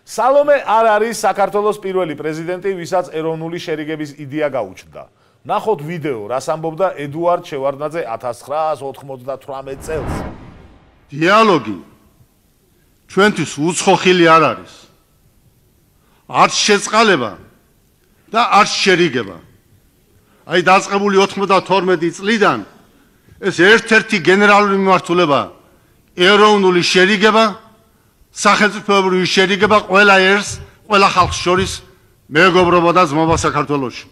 სალომე არ არის საქართველოს პირველი პრეზიდენტი, ვისაც ეროვნული შერიგების იდეა გაუჩნდა. ნახოთ ვიდეო, რას ამბობდა ედუარდ შევარდნაძე 1998 წელს. დიალოგი ჩვენთვის უცხოხილი არ არის. არც შეწყალება და არც შერიგება. აი დაწყებული 92 წლიდან ეს ერთ-ერთი გენერალური მიმართულება ეროვნული შერიგება, სახელმწიფოებრივი შერიგება ყველა ერს, ყველა ხალხს შორის მეგობრობა და ძმობა საქართველოში.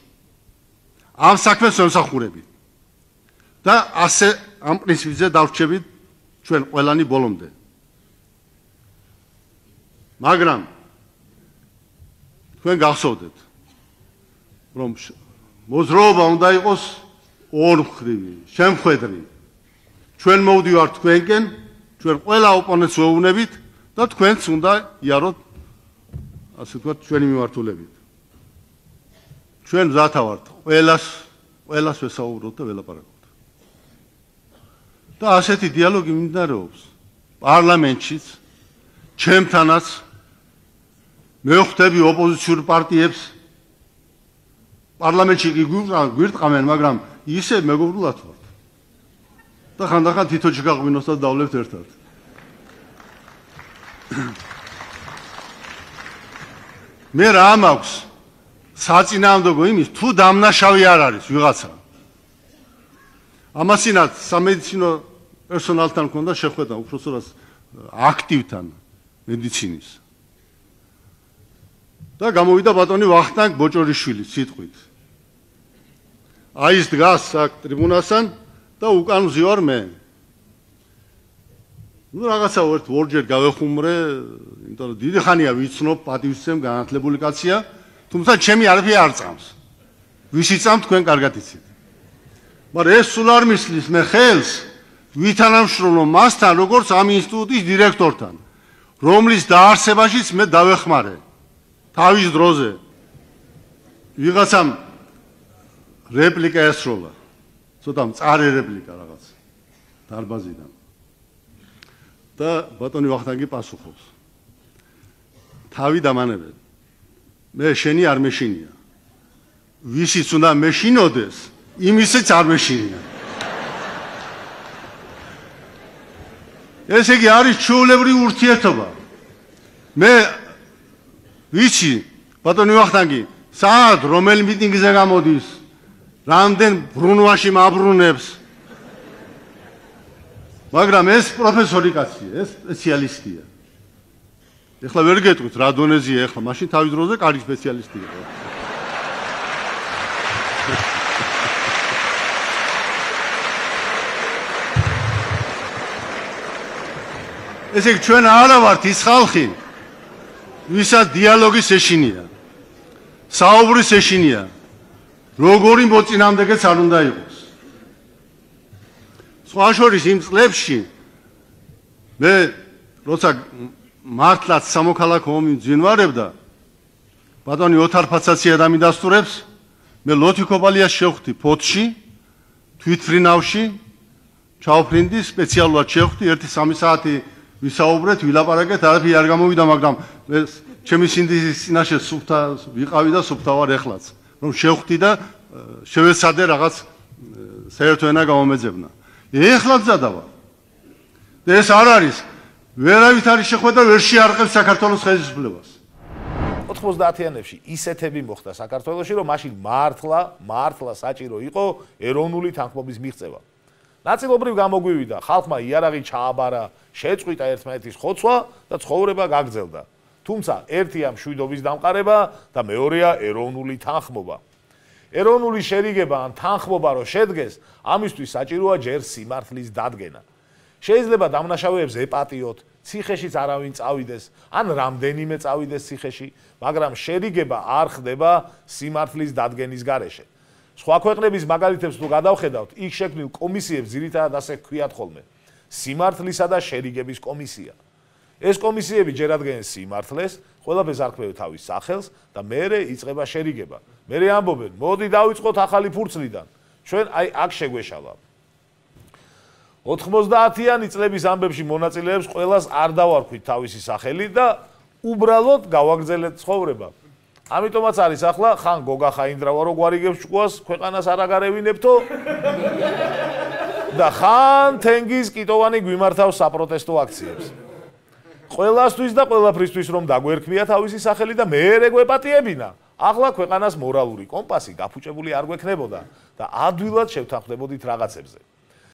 ამ საქმეს ვემსახურებით და ასე ამ პრინციპზე დავრჩებით ჩვენ ყველანი ბოლომდე. მაგრამ თქვენ გახსოვდეთ, რომ მოძრაობა უნდა იყოს ორმხრივი, შემხედრი. ჩვენ მოვდივართ თქვენკენ, ჩვენ ყველა ოპონენტს ვეუბნებით და თქვენც უნდა იაროთ, ასე ვთქვათ, ჩვენი მიმართულებით. ჩვენ მზათა ვართ ყველას ვესაუბროთ და ველაპარაკოთ. და ასეთი დიალოგი მიმდინარეობს პარლამენტშიც, ჩემთანაც, მე ვხვდები ოპოზიციურ პარტიებს პარლამენტში გვირტყამენ, მაგრამ ისე მეგობრულად ვართ. და ხანდახან თითო ჩიგაღვინოსაც დავლებთ ერთად. მე რა მაქვს საწინააღმდეგო იმის, თუ დამნაშავე არ არის ვიღაცა. ამასინაც სამედიცინო პერსონალთან მქონდა შეხვედრა, უпростоრას აქტივთან მედიცინის. და გამოვიდა ბატონი ვახტანგ ბოჭორიშვილის სიტყვით. აი ის დგას აქ ტრიბუნასთან და უკან ვზივარ მე. ნუ რაღაცა ორჯერ გავეხუმრე, იმიტომ რომ დიდი ხანია ვიცნობ, პატივისცემ, განათლებული კაცია, თუმცა ჩემი არაფერი არ წამს. ვისი წამთ თქვენ კარგად იცით. მაგრამ ეს სულ არ მისლის მე ხელს ვითანამშრომლო მასთან, როგორც ამ ინსტიტუტის დირექტორთან, რომლის დაარსებაშიც მე დავეხმარე. თავის დროზე ვიღაცამ რეპლიკა ესროლა. ცოტა მწარე რეპლიკა რაღაც დარბაზიდან. და ბატონი ვახტანგი პასუხობს. თავი დამანებენ. მე შენი არ მეშინია. ვისიც უნდა მეშინოდეს, იმისიც არ მეშინია. ესე იგი არის ჩვეულებრივი ურთიერთობა. მე ვიცი, ბატონი ვახტანგი, საათ რომელ მიტინგზე გამოდის, რამდენ ბრუნვაში მაბრუნებს. მაგრამ ეს პროფესორი კაცია, ეს სპეციალისტია. ეხლა ვერ გეტყვით რა დონეზეა ეხლა, მაშინ თავის დროზე კარგი სპეციალისტი იყო. ესე იგი ჩვენ არა ვართ ის ხალხი, ვისაც დიალოგის ეშინია, საუბრის ეშინია, როგორი მოწინააღმდეგეც არ უნდა იყოს. სხვა შორის იმ წლებში მე როცა მართლაც სამოქალაქო ომი მძინვარებდა, ბატონი ოთარ ფაცაცია დამიდასტურებს, მე ლოთიკობალიას შევხვდი ფოთში, თვითფრინავში, ჩავფრინდი, სპეციალურად შევხვდი, 1-3 საათი ვისაუბრეთ, ვილაპარაკეთ, არაფერი არ გამოვიდა, მაგრამ მე ჩემი სინდისის წინაშე სუფთა ვიყავი და სუფთა ვარ ეხლაც, რომ შევხვდი და შევეცადე რაღაც საერთო ენა გამომეძებნა. ეხლა მზადა ვარ. და ეს არ არის, ვერავით არის შეხვედრა, ვერ შეარყევს საქართველოს ხელისუფლებას. 90-იანებში ისეთები მოხდა საქართველოში, რომ მაშინ მართლა საჭირო იყო ეროვნული თანხმობის მიღწევა. ნაწილობრივ გამოგვივიდა, ხალხმა იარაღი ჩააბარა, შეწყვიტა ერთმანეთის ხოცვა და ცხოვრება გაგრძელდა. თუმცა ერთია მშვიდობის დამყარება და მეორეა ეროვნული თანხმობა. ეროვნული შერიგება ან თანხმობა რო შედგეს, ამისთვის საჭიროა ჯერ სიმართლის დადგენა. შეიძლება დამნაშავეებს ეპატიოთ, ციხეშიც არავინ წავიდეს, ან რამდენიმე წავიდეს ციხეში, მაგრამ შერიგება არ ხდება სიმართლის დადგენის გარეშე. სხვა ქვეყნების მაგალითებს თუ გადავხედავთ, იქ შექმნილ კომისიებს ძირითადად ასე ჰქვიათ ხოლმე: სიმართლისა და შერიგების კომისია. ეს კომისიები ჯერ ადგენენ სიმართლეს, ყველაფერს არქმევენ თავის სახელს და მერე იწყება შერიგება. მერე ამბობენ, მოდი დავიწყოთ ახალი ფურცლიდან. ჩვენ აი აქ შეგვეშალა. 90-იანი წლების ამბებში მონაწილეებს ყველას არ დავარქვით თავისი სახელი და უბრალოდ გავაგრძელეთ ცხოვრება. ამიტომაც არის ახლა ხან გოგა ხაინდრავა რო გვარიგებს ჭკუას, ქვეყანას არ აგარევინებთო და ხან თენგიზ კიტოვანი გვიმართავს საპროტესტო აქციებს. ყველასთვის და ყველაფრისთვის რომ დაგვერქმია თავისი სახელი და მეერე გვეპატიებინა. ახლა ქვეყანას მორალური კომპასი გაფუჭებული არ გვექნებოდა და ადვილად შევთანხმდებოდით რაღაცებზე.